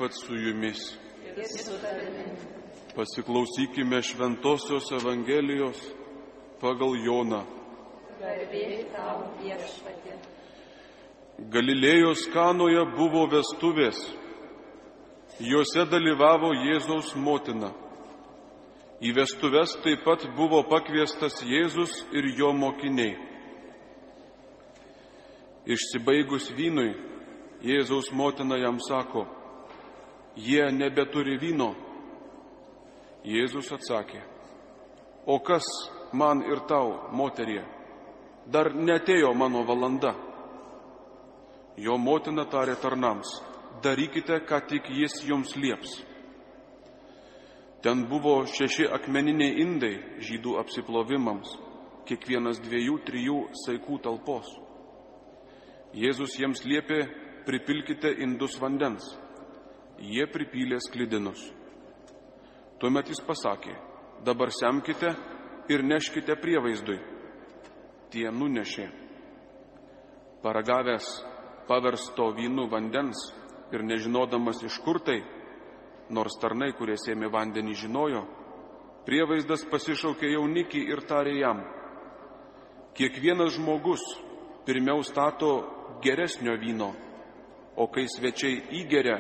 viešpats su jumis. Ir su tavimi. Pasiklausykime Šventosios Evangelijos pagal Joną. Garbė tau, Viešpatie. Galilėjos Kanoje buvo vestuvės. Jose dalyvavo Jėzaus motina. Į vestuves taip pat buvo pakviestas Jėzus ir jo mokiniai. Išsibaigus vynui, Jėzaus motina jam sako: jie nebeturi vyno. Jėzus atsakė: o kas man ir tau, moterie? Dar neatėjo mano valanda. Jo motina tarė tarnams: darykite, ką tik jis jums lieps. Ten buvo 6 akmeniniai indai žydų apsiplovimams, kiekvienas 2-3 saikų talpos. Jėzus jiems liepė: pripilkite indus vandens. Jie pripylė sklidinus. Tuomet jis pasakė: dabar semkite ir neškite prievaizdui. Tie nunešė. Paragavęs paversto vynu vandens ir nežinodamas iš kur tai, nors tarnai, kurie sėmė vandenį, žinojo, prievaizdas pasišaukė jaunikį ir tarė jam: kiekvienas žmogus pirmiau stato geresnio vyno, o kai svečiai įgeria,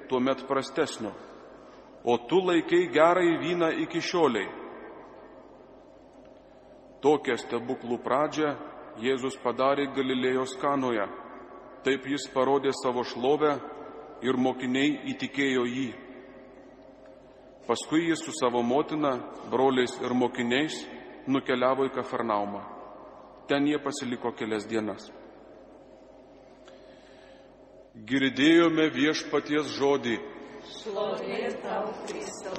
tuomet prastesnio, o tu laikai gerąjį vyną iki šioliai. Tokią stebuklų pradžią Jėzus padarė Galilėjos Kanoje. Taip jis parodė savo šlovę ir mokiniai įtikėjo jį. Paskui jis su savo motina, broliais ir mokiniais nukeliavo į Kafarnaumą. Ten jie pasiliko kelias dienas. Girdėjome Viešpaties žodį. Šlovė tau, Kristau.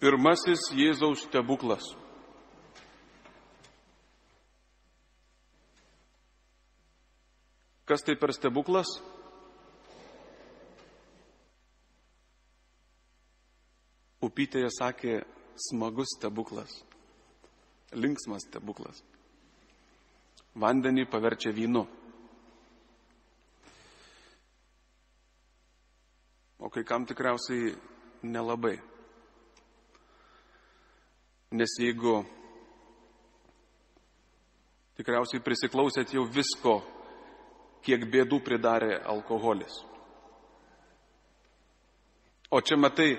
Pirmasis Jėzaus stebuklas. Kas tai per stebuklas? Upytėje sakė: smagus stebuklas, linksmas stebuklas. Vandenį paverčia vynu. O kai kam tikriausiai nelabai. Nes jeigu tikriausiai prisiklausėt jau visko, kiek bėdų pridarė alkoholis. O čia matai,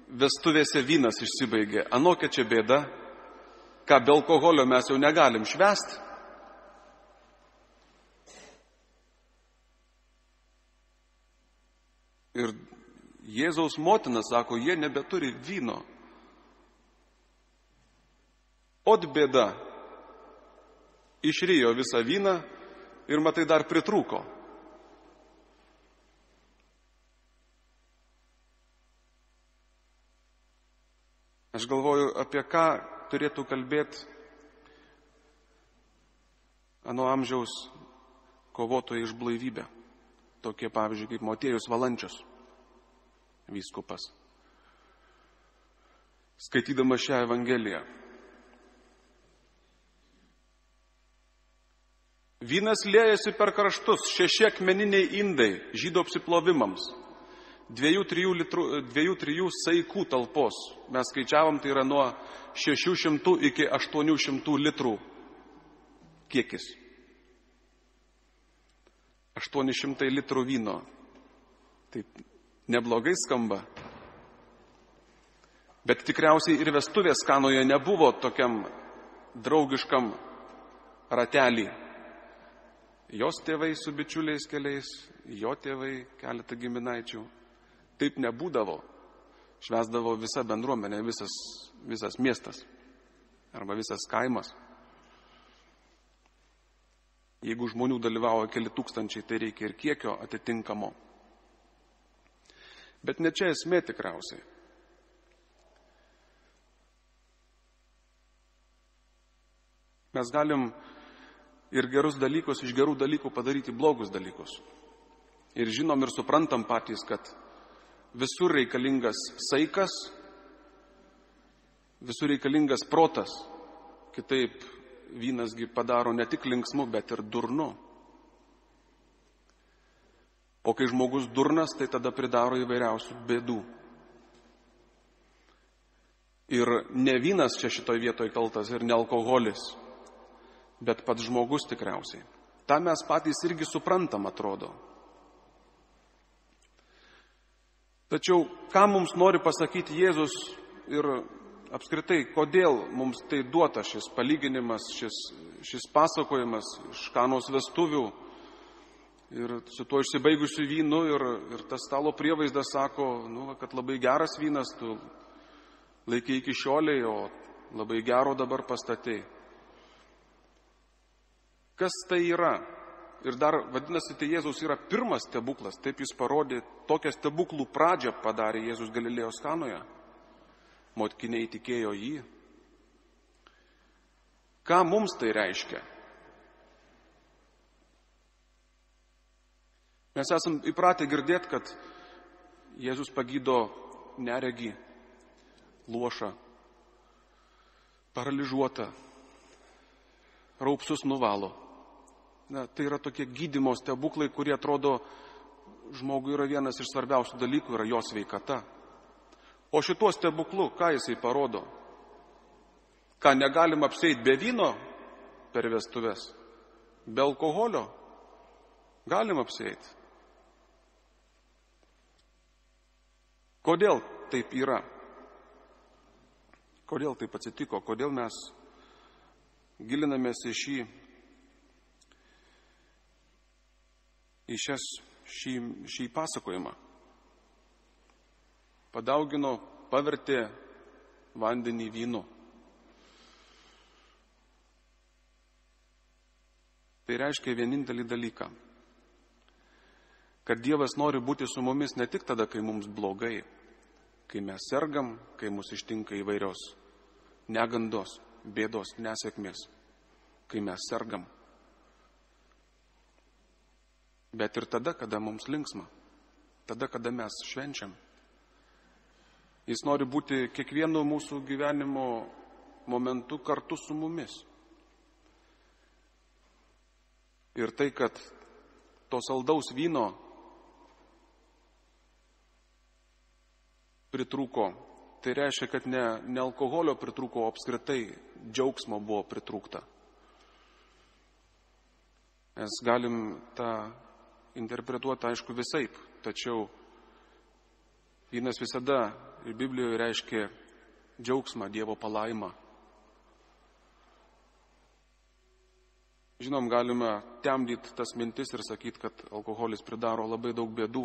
vestuvėse vynas išsibaigė. Anokia čia bėda, ką be alkoholio mes jau negalim švęsti. Ir Jėzaus motina sako: jie nebeturi vyno. Ot bėda, išrijo visą vyną ir matai dar pritrūko. Aš galvoju, apie ką turėtų kalbėti ano amžiaus kovotojai iš blaivybę. Tokie pavyzdžiui kaip Motiejus Valančius, vyskupas. Skaitydamas šią Evangeliją. Vynas liejasi per kraštus, 6 akmeniniai indai žydų apsiplovimams, 2-3 saikų talpos. Mes skaičiavom, tai yra nuo 600 iki 800 litrų kiekis. 800 litrų vyno. Taip neblogai skamba. Bet tikriausiai ir vestuvės Kanoje nebuvo tokiam draugiškam ratelį. Jos tėvai su bičiuliais keliais, jo tėvai keletą giminaičių. Taip nebūdavo. Švęsdavo visa bendruomenė, visas miestas arba visas kaimas. Jeigu žmonių dalyvavo keli tūkstančiai, tai reikia ir kiekio atitinkamo. Bet ne čia esmė tikriausiai. Mes galim ir gerus dalykus iš gerų dalykų padaryti blogus dalykus. Ir žinom ir suprantam patys, kad visur reikalingas saikas, visur reikalingas protas. Kitaip vynasgi padaro ne tik linksmu, bet ir durnu. O kai žmogus durnas, tai tada pridaro įvairiausių bėdų. Ir ne vynas čia šitoj vietoj kaltas ir ne alkoholis, bet pats žmogus tikriausiai. Ta mes patys irgi suprantam, atrodo. Tačiau, ką mums nori pasakyti Jėzus ir apskritai, kodėl mums tai duota šis palyginimas, šis pasakojimas iš Kanos vestuvių ir su tuo išsibaigusiu vynu ir tas stalo prievaizdas sako, kad labai geras vynas, tu laikai iki šioliai, o labai gero dabar pastatei. Kas tai yra? Ir dar, vadinasi, tai Jėzus yra pirmas stebuklas, taip jis parodė, tokią stebuklų pradžią padarė Jėzus Galilėjos Kanoje. Mokiniai tikėjo jį. Ką mums tai reiškia? Mes esam įpratę girdėti, kad Jėzus pagydo neregį, luošą, paralyžiuotą, raupsus nuvalo. Tai yra tokie gydymo stebuklai, kurie atrodo žmogui yra vienas iš svarbiausių dalykų, yra jo sveikata. O šituo stebuklu, ką jisai parodo? Ką negalim apsieiti be vyno per vestuves? Be alkoholio? Galim apsieiti. Kodėl taip yra? Kodėl taip atsitiko? Kodėl mes gilinamės į šį pasakojimą? Padaugino, pavertė vandenį vynu. Tai reiškia vienintelį dalyką, kad Dievas nori būti su mumis ne tik tada, kai mums blogai, kai mes sergam, kai mus ištinka įvairios negandos, bėdos, nesėkmės, kai mes sergam. Bet ir tada, kada mums linksma, tada, kada mes švenčiam. Jis nori būti kiekvienu mūsų gyvenimo momentu kartu su mumis. Ir tai, kad to saldaus vyno pritrūko, tai reiškia, kad ne alkoholio pritrūko, o apskritai džiaugsmo buvo pritrūkta. Mes galim tą interpretuoti, aišku, visaip, tačiau vynas visada ir Biblijoje reiškia džiaugsmą, Dievo palaimą. Žinom, galime temdyti tas mintis ir sakyti, kad alkoholis pridaro labai daug bėdų,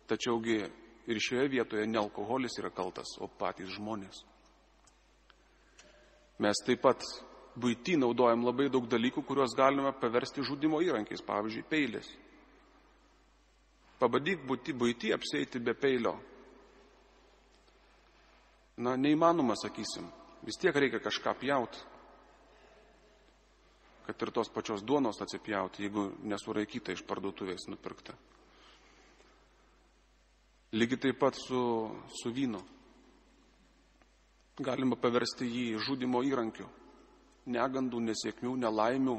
tačiaugi ir šioje vietoje ne alkoholis yra kaltas, o patys žmonės. Mes taip pat buity naudojam labai daug dalykų, kuriuos galime paversti žudimo įrankiais, pavyzdžiui, peilis. Pabandyk buity apsieiti be peilio. Neįmanoma, sakysim. Vis tiek reikia kažką pjauti. Kad ir tos pačios duonos atsipjauti, jeigu nesuraikyta iš parduotuvės nupirkta. Lygiai taip pat su vynu. Galima paversti jį žudimo įrankiu. Negandų, nesėkmių, nelaimių.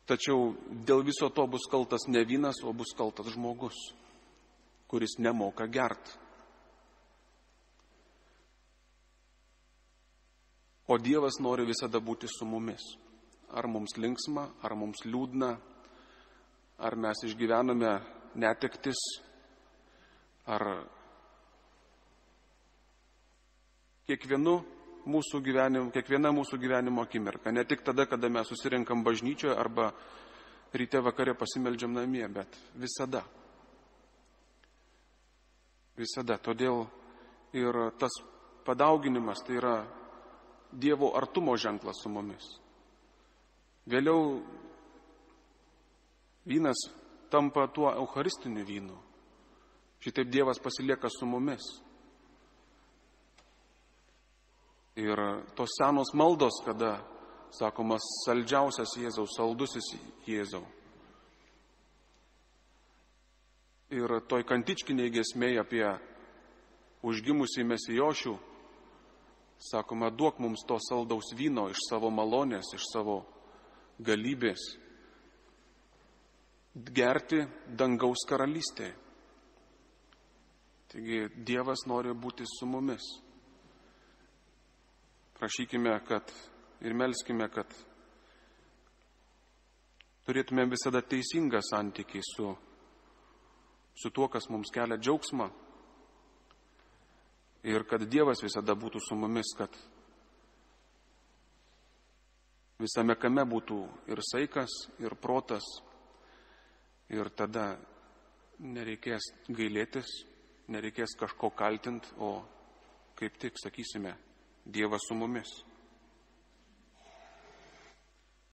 Tačiau dėl viso to bus kaltas ne vynas, o bus kaltas žmogus, kuris nemoka gert. O Dievas nori visada būti su mumis. Ar mums linksma, ar mums liūdna, ar mes išgyvename netektis, ar kiekviena mūsų gyvenimo akimirka. Ne tik tada, kada mes susirinkam bažnyčioje arba ryte vakare pasimeldžiam namie, bet visada. Visada. Todėl ir tas padauginimas tai yra Dievo artumo ženklas su mumis. Vėliau vynas tampa tuo eucharistiniu vynu. Šitaip Dievas pasilieka su mumis. Ir tos senos maldos, kada sakomas saldžiausias Jėzau, saldusis Jėzau. Ir toj kantičkiniai giesmėj apie užgimusį Mesijošių Sakoma, duok mums to saldaus vyno iš savo malonės, iš savo galybės, gerti dangaus karalystėje. Taigi Dievas nori būti su mumis. Prašykime, ir melskime, kad turėtume visada teisingą santykį su tuo, kas mums kelia džiaugsmą. Ir kad Dievas visada būtų su mumis, kad visame kame būtų ir saikas, ir protas. Ir tada nereikės gailėtis, nereikės kažko kaltinti, o kaip tik sakysime, Dievas su mumis.